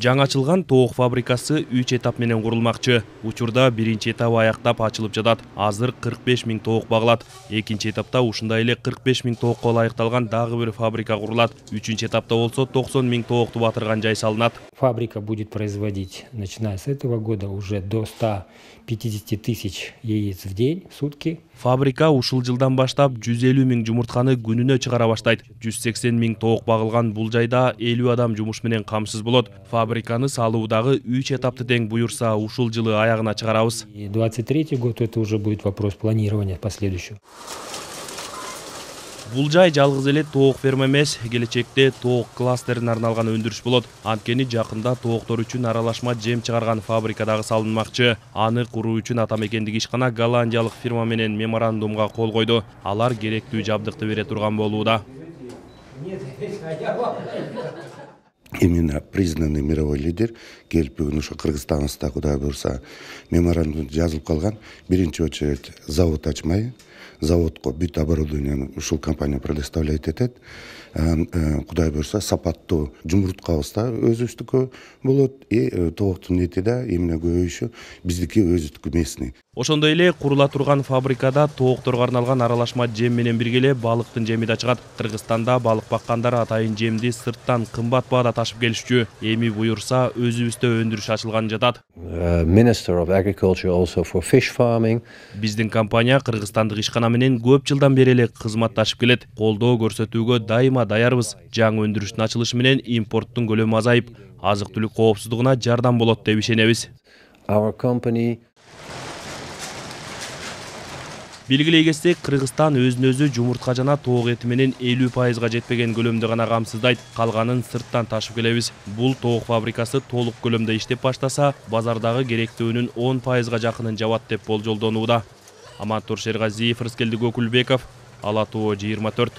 Жаңы ачылган тоок фабрикасы 3 этап менен курулмакчы. Учурда биринчи этабы аяктап ачылып жатат. Азыр 45 000 тоок багылат. Экинчи этапта ушундай эле 45 000 тоокко ылайыкталган дагы бир фабрика курулат. Үчүнчү этапта болсо 90 000 тоокту батырган жай салынат. Фабрика будет производить, начиная с этого года, уже до 150 тысяч яиц в день, в сутки. Фабрика ушул жылдан баштап 150 000 жумуртканы күнүнө чыгара баштайт. 180 000 тоок багылган бул жайда 50 адам жумуш менен камсыз болот. Фабриканы салуудагы 3 этапты тең буюрса, ушул жылы аягына чыгарабыз. И 23-й год это уже будет вопрос планирования последующего. Бул жай жалгыз эле тоок ферма эмес, келечекте тоок кластерине арналган өндүрүш болот. Анткени жакында тооктор үчүн аралашма жем чыгарган фабрика дагы салынмакчы. Аны куруу үчүн атамекендик ишкана голландиялык фирма менен меморандумга кол койду. Алар керектүү жабдыкты бере турган болууда. Именно признанный мировой лидер келип бүгүн ошо Кыргызстаныбызда Кудай буюрса меморандум жазылып калган. Биринчи очередь завод ачмай, заводко бүт оборудованияны ушул компания предоставлять этет. Кудай буюрса сапаттуу жумурткабыз да өзүбүздүкү болот. Тооктун эти да эмне көбөйүшү биздики өзүбүздүкү местный. Ошондой эле курула турган фабрикада тоокторго арналган аралашма жем менен бирге эле балыктын жеми да чыгат. Кыргызстанда балык баккандар атайын жемди сырттан кымбат баада ташып келишчү. Эми буюрса өзүбүздө өндүрүш ачылган жатат. Minister of Agriculture also for fish farming. Биздин компания кыргызстандык ишкана менен көп жылдан бери эле кызматташып келет. Колдоо көрсөтүүгө дайыма даярбыз. Жаңы өндүрүштүн ачылышы менен импорттун көлөмү азайып, азык-түлүк коопсуздугуна жардам болот деп ишенебиз. Our company Белгилей кетсек, Кыргызстан өзүн-өзү жумуртка жана тоок эти менен 50% жетпеген көлөмдө гана камсыздайт. Калганын сырттан ташып келебиз. Бул тоок фабрикасы толук көлөмдө иштеп баштаса, базардагы керектөөнүн 10% жакынын жабат деп болжолдонууда. Амантур Шергазиев, Рыскелди Көкүлбеков, Ала Тоо 24.